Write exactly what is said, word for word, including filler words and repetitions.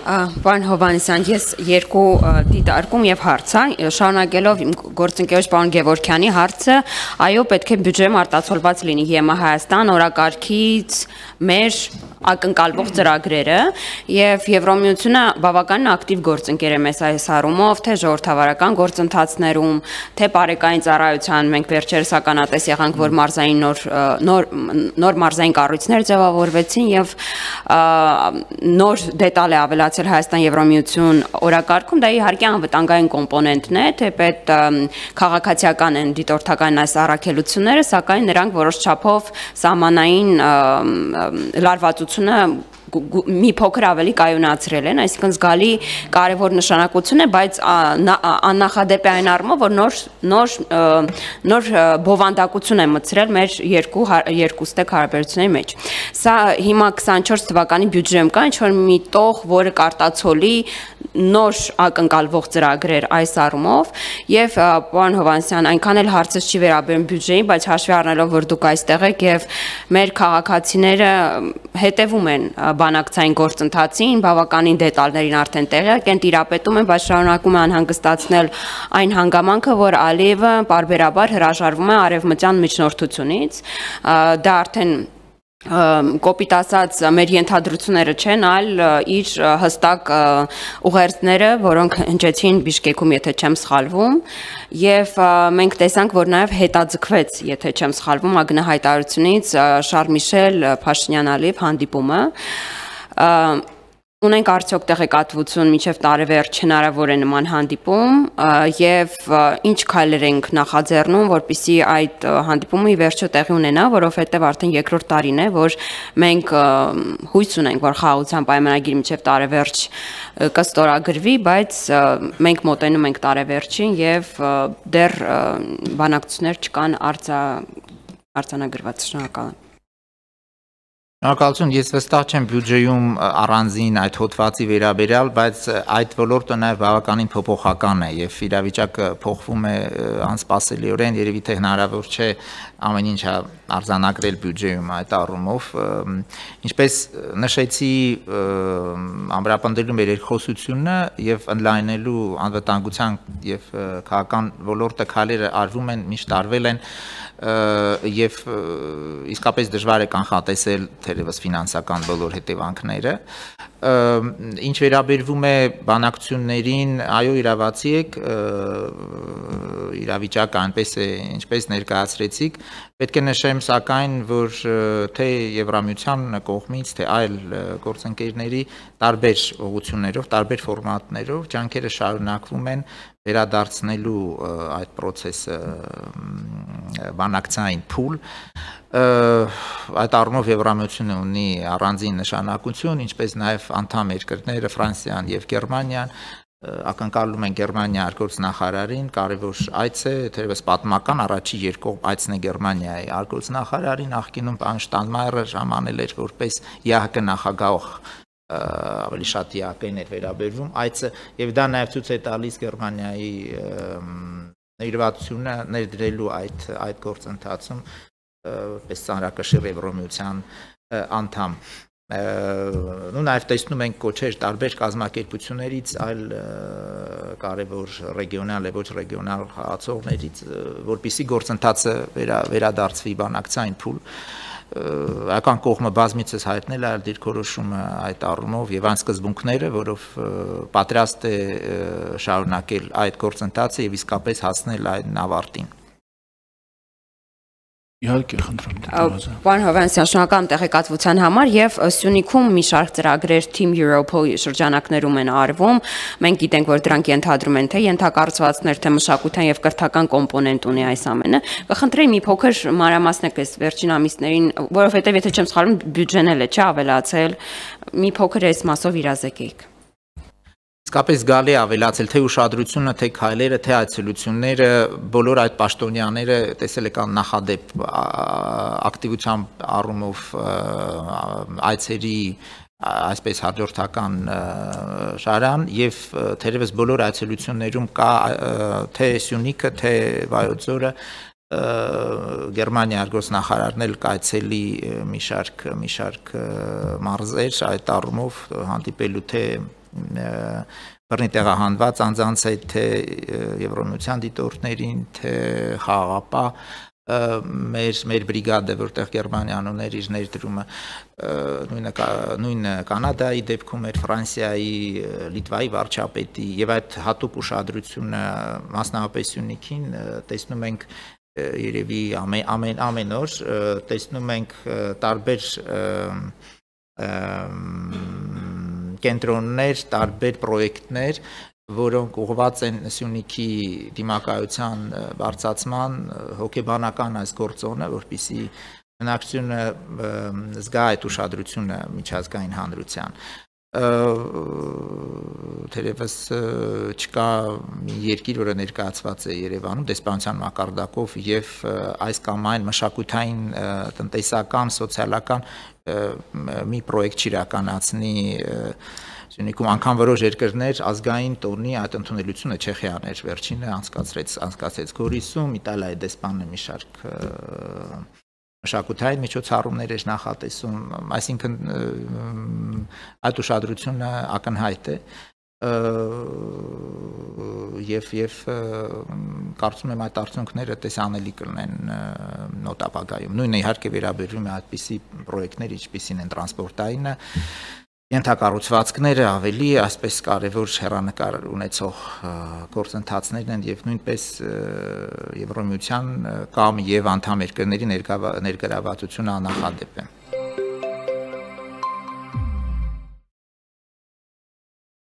Պարոն Հովհաննիսյան, ես երկու դիտարկում եւ հարց, շարունակելով իմ գործընկերոջ պարոն Գևորգյանի հարցը, այո, պետք է բյուջեում արտացոլված լինի ԵՄ Հայաստան օրակարգից մեր ակնկալվող ծրագրերը եւ Եվրոմիությունը բավականին ակտիվ գործընկեր է մեզ այս առումով, թե ժողովրդավարական գործընթացներում, թե բարեկային ծառայության, մենք վերջերս ականատես եղանք, որ մարզային նոր նոր նոր մարզային կառույցներ ձևավորվեցին եւ նոր դետալ է ավելացել Հայաստան Եվրոմիություն օրակարգում, դա իհարկե անվտանգային կոմպոնենտն է, թեպետ քաղաքացիական են դիտորդական այս առաքելությունները, սակայն նրանք որոշ չափով սահմանային լարվածություն մի փոքր ավելի կայունացրել են, այսինքն զգալի կարևոր նշանակություն է, բայց աննախադեպ է այն առումով, որ նոր նոր նոր բովանդակություն է մտցրել մեր երկու երկուստեք հարաբերությունների մեջ։ Սա հիմա քսանչորս թվականի բյուջեում կա ինչ-որ մի տող, որը կարտացոլի նոր ակնկալվող ծրագրեր այս առումով եւ պարոն Հովհաննիսյան, այնքան էլ հարցս չի վերաբերում բյուջեին, բայց հաշվի առնելով, որ դուք այստեղ եք եւ մեր քաղաքացիները հետևում են բանակցային գործընթացին, բավականին դետալներին արդեն տեղյակ են, տիրապետում են, բայց շարունակում է անհանգստացնել այն հանգամանքը, որ Ալիևը պարբերաբար հրաժարվում է արևմտյան միջնորդությունից, դա արդեն կոպիտ ասած մեր ենթադրությունները չեն, այլ իր հստակ ուղերձները, որոնք հնչեցին Բիշկեքում, եթե չեմ սխալվում, եւ մենք տեսանք, որ նաեւ հետաձգվեց, եթե չեմ սխալվում, ակնհայտարարությունից Շարլ Միշել Փաշինյան-Ալիև հանդիպումը։ Ունենք արդյոք տեղեկատվություն մինչև տարեվերջ հնարավոր է նման հանդիպում եւ ինչ քայլեր ենք նախաձեռնում, որպեսզի այդ հանդիպումը ի վերջո տեղի ունենա, որովհետեւ արդեն երկրորդ տարին է, որ մենք հույս ունենք, որ խաղաղության պայմանագիրը մինչև տարեվերջ կստորագրվի, բայց մենք մոտենում ենք տարեվերջին եւ դեռ բանակցություններ չկան արձանագրված։ Շնորհակալ եմ։ Շնորհակալություն, ես վստահ չեմ բյուջեում առանձին այդ հոդվածի վերաբերյալ, բայց այդ ոլորտը նաև բավականին փոփոխական է եւ իրավիճակը փոխվում է անսպասելիորեն, երևի թե հնարավոր չէ ամեն ինչ արձանագրել բյուջեում այդ առումով, ինչպես նշեցի ամրապնդելու մեր երկխոսությունը եւ ընդլայնելու անվտանգության եւ քաղաքական ոլորտը քայլերը արվում են, միշտ արվել են եւ իսկապես դժվար է կանխատեսել թերևս ֆինանսական բոլոր հետևանքները։ Ինչ վերաբերվում է բանակցություններին, այո, իրավացի եք, իրավիճակը այնպես է, ինչպես ներկայացրեցիք, պետք է նշեմ սակայն, որ թե Եվրամիության կողմից, թե այլ գործընկերների տարբեր ուղղություններով, տարբեր ֆորմատներով ջանքերը շարունակվում են վերադարձնելու այդ process-ը բանակցային փուլ, այդ առումով Եվրամիությունը ունի առանձին նշանակություն, ինչպես նաև անդամ երկրները Ֆրանսիան եւ Գերմանիան, ակնկալում են Գերմանիա արտգործնախարարին, կարևոր այց է, թերևս պատմական առաջի երկկողմ այցն է Գերմանիայի արտգործնախարարին, նախկինում պարոն Շտայնմայերը ժամանել էր որպես ԵԱՀԿ նախագահ, ավելի շատ ԵԱՀԿ-ին էր վերաբերվում այցը եւ դա նաեւ ցույց է տալիս Գերմանիայի ներդրությունը ներդրելու այդ այդ գործընթացում որպես ծանրակշիռ Եվրոմիության անդամ նու նաեւ տեսնում ենք կոչեր տարբեր կազմակերպություններից այլ կարևոր ռեգիոնալ եւ ոչ ռեգիոնալ խաղացողներից որպեսզի գործընթացը վերադարձվի բանակցային փուլ Ական կողմը բազմիցս հայտնել է դիրքորոշումը այդ առումով եւ այն սկզբունքները, որով պատրաստ է շարունակել այդ գործընթացը եւ իսկապես հասնել այն ավարտին։ Իհարկե, խնդրում Պարոն Հովհաննիսյան, շնորհակալ եմ տեղեկատվության համար եւ Սյունիքում մի շարք ծրագրեր Team Europol շրջանակներում են արվում։ Մենք գիտենք, որ դրանք ենթադրում են թե ենթակառուցվածքներ, թե մշակութային եւ կրթական կոմպոնենտ ունի այս ամենը։ Կխնդրեի մի փոքր մանրամասնեք այս վերջին ամիսներին, որովհետեւ եթե չեմ սխալվում, բյուջեն էլ է չէ ավելացել, մի փոքր այս մասով իրազեկեիք։ Իսկապես գալի ավելացել թե ուշադրությունը, թե քայլերը, թե այցելությունները, բոլոր այդ պաշտոնյաները տեսել եկան նախադեպ ակտիվության առումով այցերի այսպես հաջորդական շարան եւ թերևս բոլոր այցելություններում կա թե Սյունիքը, թե Վայոց ձորը Գերմանիա արտգործնախարարն էլ կայցելի մի շարք մի շարք մարզեր այդ առումով հանդիպելու թե բռնի տեղահանված անձանց հետ, թե Եվրոմիության դիտորդներին, թե խաղաղապահ մեր մեր բրիգադը, որտեղ Գերմանիան ուներ իր ներդրումը, նույնը նույնը Կանադայի դեպքում էր, Ֆրանսիայի, Լիտվայի վարչապետի եւ այդ հատուկ ուշադրությունը մասնավորապես Սյունիքին տեսնում ենք երևի ամեն ամեն ամեն օր տեսնում ենք տարբեր կենտրոններ, տարբեր պրոյեկտներ, որոնք ուղղված են Սյունիքի դիմակայության բարձրացման հոգեբանական այս գործոնը, որպեսզի բնակչությունը զգա այդ ուշադրությունը միջազգային հանրության։ Թերևս չկա մի երկիր, որը ներկայացված է Երևանում դեսպանության մակարդակով եւ այս կամ այն մշակութային, տնտեսական, սոցիալական մի պրոյեկտ չիրականացնի Սյունիքում, անգամ որոշ երկրներ ազգային տոնի այդ ընդունելությունը Չեխիան էր վերջինը անցկացրեց անցկացրեց Գորիսում, Իտալիայի դեսպանը մի շարք մշակութային միջոցառումներ էր նախատեսում, այսինքն այդ ուշադրությունը ակնհայտ է եւ եւ կարծում եմ այդ արդյունքները տեսանելի կլինեն նոտ ապագայում։ Նույնը իհարկե վերաբերում է այդպիսի պրոյեկտներ, ինչպիսին են տրանսպորտայինը, ենթակառուցվածքները ավելի այսպես կարևոր հեռանկար ունեցող գործընթացներն են եւ նույնպես Եվրոմիության կամ եւ անդամ երկրների ներգրավվածությունը աննախադեպ է։